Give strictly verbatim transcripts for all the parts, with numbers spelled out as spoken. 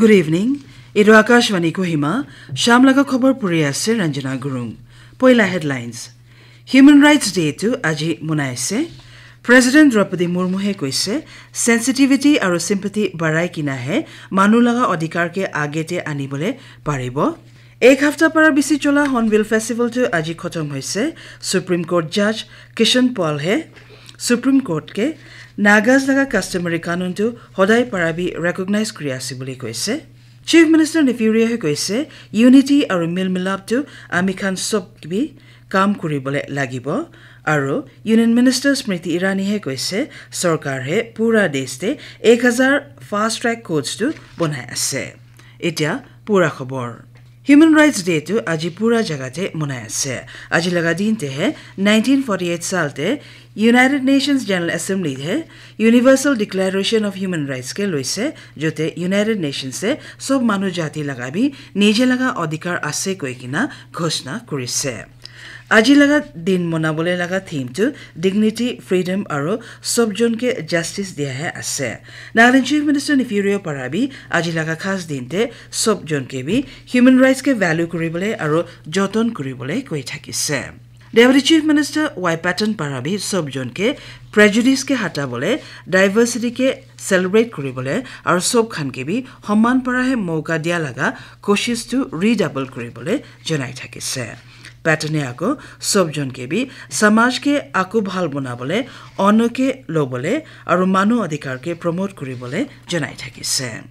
Good evening. Etu Akashvani Kohima, sham laga khobor puri ase Ranjana Gurung. Poila headlines. Human Rights Day tu aji monai ase. President Draupadi Murmu he koise, sensitivity aru sympathy barai kina he manu laga adhikar ke age te anibole paribo. Ek hafta para bisi chola Hornbill Festival tu aji khotom hoise. Supreme Court Judge Kishan Paul he Supreme Court ke Nagas laga customary kanun tu hodai para bi recognize kuri ase buli koise. Chief Minister Neiphiu Rio he koise, unity aru mil milap tu ami khan sob bi kam kuri bole lagibo. Aru Union Minister Smriti Irani he koise, sorkar he pura desh te ek hazar fast track courts tu bonai ase. Etia pura khobor. Human Rights Day tu aji pura jaga te monai ase. Aji laga din te he nineteen forty-eight sal te United Nations General Assembly he Universal Declaration of Human Rights ke loise, jote United Nations se sob manu jati laga bi nije laga adhikar ase koi kina ghoshna kurise. Aji laga din monabole laga theme tu dignity, freedom aru sob jon ke justice dia he ase. Nagaland Chief Minister Neiphiu Rio para bi aji laga khas din te sob jon ke bi human rights ke value kuribole aru joton kuribole koi thakise. Deputy Chief Minister Y Patton para bi sob jon ke prejudice ke hata bole, diversity ke celebrate kuribole aru sob khan ke bi homan para he moka dia laga koshish tu redouble kuribole janai thakise. Patton e ako sob jon ke bi samaj ke ako bhal bonabole, ono ke lobole aru manu adhikar ke promote kuribole janai thakise.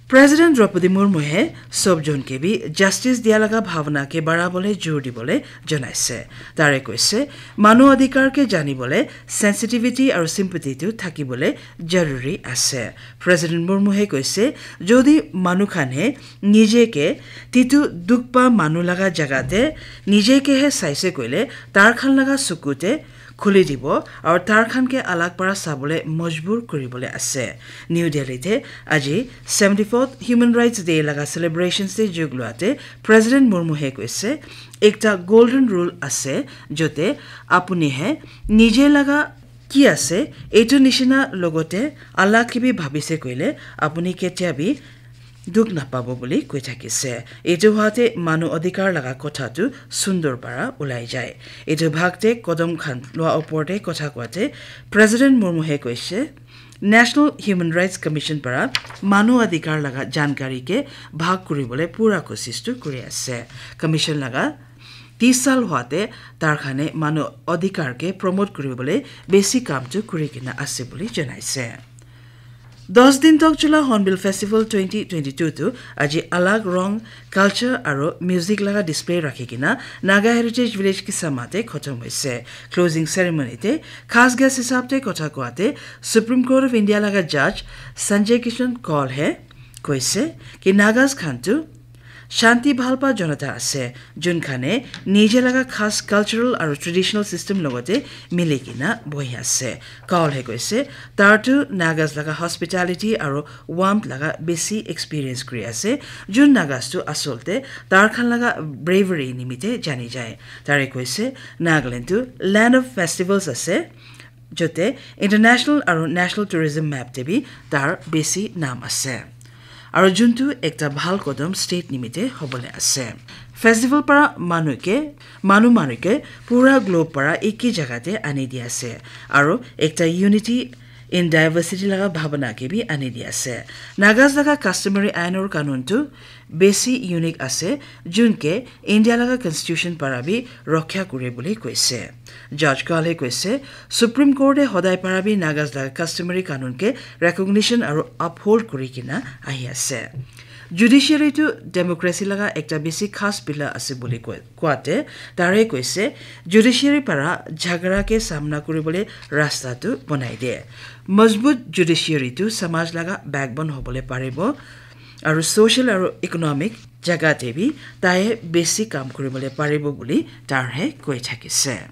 President Draupadi Murmu he sob jon ke bi justice dia laga bhavana ke barabole jor dibole janaise. Tare koise, manu adhikar ke janibole sensitivity aru sympathy tu thakibole jaruri ase. President Murmu he koise, jodi manu khan he nije ke titu dukh pa manu laga jaga te nije ke he saise koile, tar khan laga suku te khuli dibo aru tar khan ke alag para sabole majbur kuribole ase. New Delhi te aji seventy-fourth Human Rights Day laga celebrations te jog lua te President Murmu he koise, ekta golden rule ase, jote apuni he nije laga ki ase, etu nishina logote alag ke bi bhabise koile, apuni ketia bi dukh napabo buli koi thakise. Etu hoate manu adhikar laga kotha tu sundor para ulai jai. Etu bhag te kodom khan lua opor te kotha koate President Murmu he koise, National Human Rights Commission para manu adhikar laga jankari ke bhag kuribole pura koshish tu kuri ase. Commission laga tis sal hoate tar khane manu adhikar ke promote kuribole besi kam tu kuri kina ase buli janaise. Dos din tok chula Hornbill Festival twenty twenty-two tu aji alag rong, culture aru music laga display rakhi kina Naga Heritage Village Kisama te khotom hoise. Closing ceremony te khas guest hisab te kotha koate Supreme Court of India laga Judge Sanjay Kishan Kaul he koise ki Nagas khan tu shanti bhalpa jonata ase, jun khane nije laga khas cultural aru traditional system logote mili kina bohi ase. Kaul he koise, tar tu Nagas laga hospitality aru warmth laga besi experience kuri ase, jun Nagas tu asol te tar khan laga bravery nimite jani jai. Tare koise, Nagaland tu land of festivals ase, jote international aru national tourism map te bi tar besi nam ase. Aru juntu ekta bhal kodom state nimite hobole ase. Festival para manu ke, manu manu ke pura globe para eki jaga te ani di ase. Aru ekta unity in diversity laga bhabana ke bi ani di ase. Nagas laga customary ainor kanun tu besi unique ase, jun ke India laga constitution para bi rokha kure bole koise. Judge Kaul he koise, Supreme Court e hodai para bi Nagas laga customary kanun ke recognition aru uphold kuri kina ahi ase. Judiciary tu democracy laga ekta besi khas pillar ase buli koi, koate tare koise, judiciary para jhagara ke samna kuribole rasta tu bonai de. Majbut judiciary tu samaj laga backbone hobole paribo. Aru social aru economic jaga te bi tai besi kam kuribole paribo buli tar he koi thakise.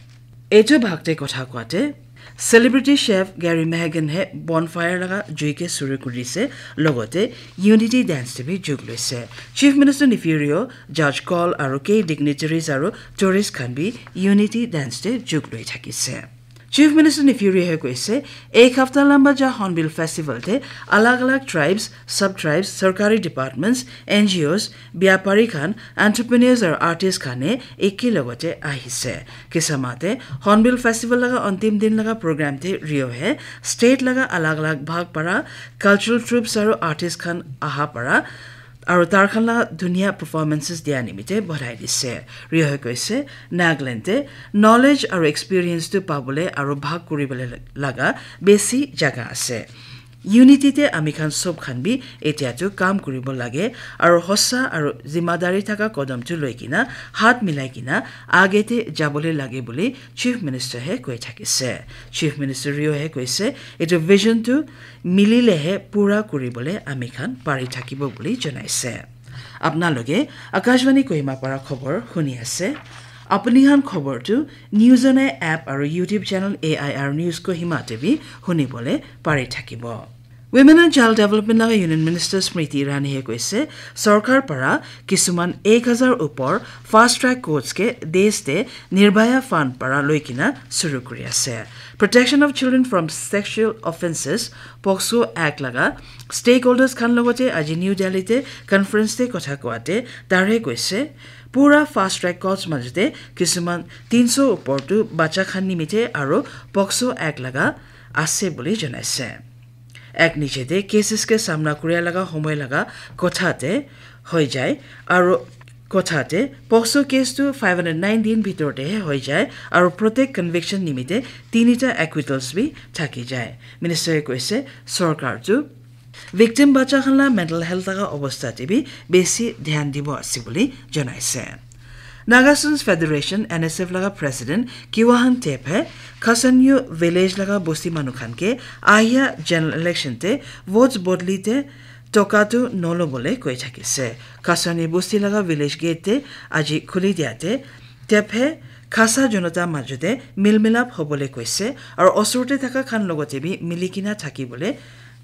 Etu bhag te kotha koate celebrity chef Gary Mehigan he bonfire laga jui ke suru kurise, logote unity dance te bi jug loise. Chief Minister Neiphiu Rio, Judge Kaul aru kei dignitaries aru tourist khan bi unity dance te jug loi thakise. Chief Minister Neiphiu Rio he koise, ek hafta lamba ja Hornbill Festival te alag alag tribes, sub tribes, sarkari departments, N G Os, biapari khan, entrepreneurs aru artist khan he eke logote ahise. Kisama te Hornbill Festival laga antim din laga program te Rio he state laga alag alag bhag para cultural troupes aru artist khan aha para aru tar khan la dunia performances dia nimite badhai dise. Rio he koise, Nagaland te knowledge aru experience tu pabole aru bhag kuribole laga besi jaga ase. Unity te ami khan sob khan bi etia tu kam kuribo lage aru hosa aru zimadari thaka kodom tu loi kina hat milai kina age te jabole lage bole Chief Minister he koi thakise. Chief Minister Rio he koise, etu vision tu milile he pura kuribole ami khan pari thakibo bole janaise. Apna loge Akashvani Kohima para khobor huni ase. Apuni khan khobor tu News on Air app aru YouTube channel A I R News Kohima te bi huni bole pari thakibo. Women and Child Development laga Union Minister Smriti Irani he koise, sorkar para kisuman ek hazar upor fast track courts ke desh te Nirbhaya Fund para loi kina suru kuri ase. Protection of Children from Sexual Offences, POCSO Act laga stakeholders khan logote aji New Delhi te conference te kotha koate tare koise, pura fast track courts majute kisuman tinso upor tu bacha khan nimite aru POCSO Act laga ase bole janaise. Act niche te cases ke samna kuria laga homoi laga kotha te hoi jai aru kotha te POCSO case tu five hundred nine din bhitor te he hoi jai aru protect conviction nimite tinita acquittals bi thaki jai. Minister e koise, sorkar tu victim bacha khan la mental health laga obostha te bi besi dhyan dibo ase bole janaise. Naga Students Federation, N S F laga president Kiwahan Tep he Khasanyu village laga bosti manu khan ke ahia general election te votes bodli te toka tu nolo bole koi thakise. Khasanyu bosti laga village gate te aji khuli dia te Tep he Khasa jonota majute milmilap hobole koise aru osor te thaka khan logote bi mili kina thaki bole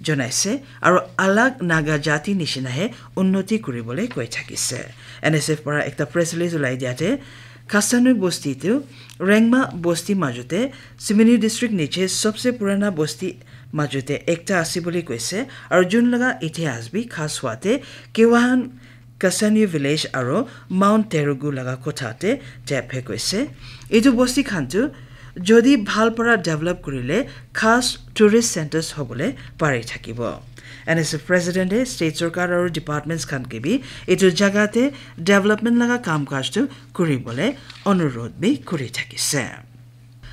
janaise aru alag Naga jati nishina he unnoti kuribole koi thakise. N S F para ekta press release ulai dia te Khasanyu bosti tu Rengma bosti majute Simeonu district niche sobse purana bosti majute ekta ase bole koise aru jun laga itihas bi khas hua te Kiwahan Khasanyu village aru Mount Terugu laga kotha te Tep he koise. Etu bosti khan tu jodi bhal para develop kurile khas tourist centers hobole pari thakibo. N S F president e state sorkar aru departments khan ke bi etu jaga te development laga kam kaj tu kuribole onurodh bi kuri thakise.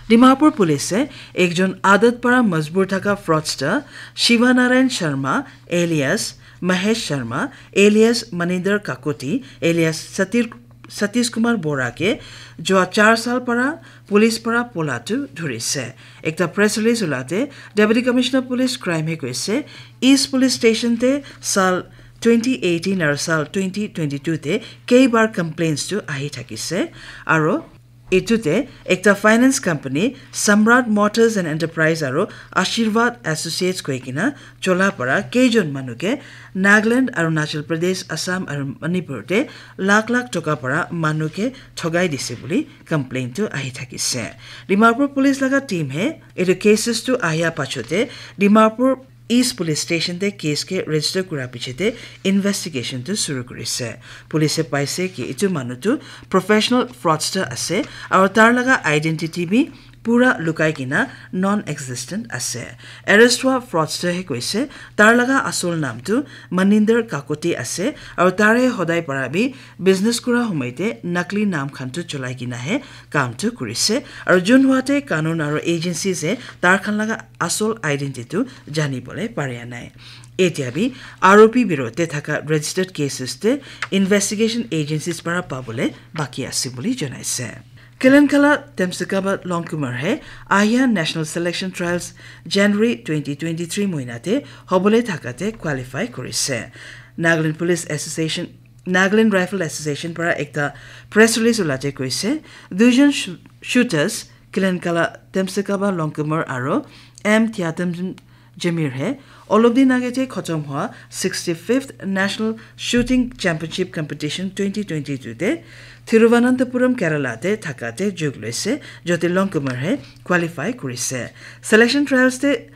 Dimapur police e ekjon adat para majbur thaka fraudster Shiva Narayan Sharma alias Mahesh Sharma alias Maninder Kakoti alias Satir Satish Kumar Bora ke jua char sal para police para pola tu dhurise. Ekta press release ulate Deputy Commissioner Police Crime he koise, East Police Station te sal twenty eighteen aru sal twenty twenty-two te keibar complaints tu ahi thakise aru etu te ekta finance company Samrat Motors and Enterprise aru Ashirwad Associates koi kina chola para keijon manu ke Nagaland, Arunachal Pradesh, Assam aru Manipur te lakh lakh toka para manu ke thogai dise bole complaint tu ahi thakise. Dimapur police laga team he etu cases tu ahia pachote Dimapur East Police Station te case ke register kura piche te investigation tu suru kurise. Police e paise ki etu manu tu professional fraudster ase aru tar laga identity bi pura lukai kina non-existent ase. Arrest hua fraudster he koise tar laga asol naam tu Maninder Kakoti ase aru tare hodai para bi business kura homoi te nakli naam khan tu cholai kina he kam tu kurise aru jun hua te kanun aru agencies e tar khan laga asol identity tu jani bole paria nai. Etia bi R O P biro te thaka registered cases te investigation agencies para pabole baki ase bole janaise. Kelenkala Temsikaba Longkumer he ahia National Selection Trials January twenty twenty-three moina te hobole thaka te qualify kurise. Nagaland Police Association, Nagaland Rifle Association para ekta press release ulate koise, duijon shoo-, shooters Kelenkala Temsikaba Longkumer aru M Thiatem Jamir he olop din age te khotom hua sixty-fifth National Shooting Championship Competition twenty twenty-two te Thiruvananthapuram, Kerala te thaka te jog loise, jote Longkumer he qualify kurise. Selection trials te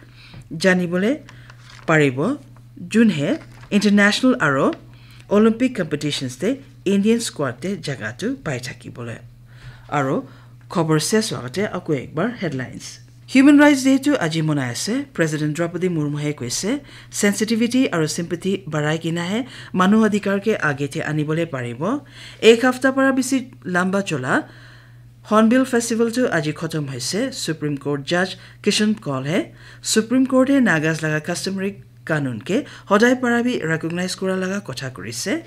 janibole paribo, jun he international aro Olympic competitions te Indian squad te jaga tu pai thakibole. Aro khobor ses hua te ako ekbar headlines. Human Rights Day tu aji monai ase. President Draupadi Murmu he koise, sensitivity aro sympathy barai kina he manu adhikar ke age te anibole paribo. Ek hafta para bisi lamba chola Hornbill Festival tu aji khotom hoise. Supreme Court Judge Kishan Kaul he Supreme Court he Nagas laga customary kanun ke hodai para bi recognize kura laga kotha kurise.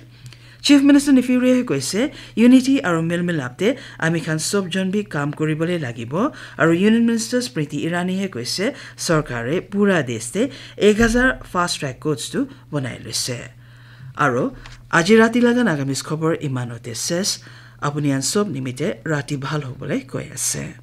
Chief Minister Neiphiu Rio he koise, unity aro milmilap te ami khan sob jon bi kam kuribole lagibo, aro Union Minister Smriti Irani he koise, sorkare pura desh te ek hazar fast track courts tu bonai loise. Aro aji rati laga Nagamese khobor imanote ses, apuni an sob nimite rati bhal hobole koi ase.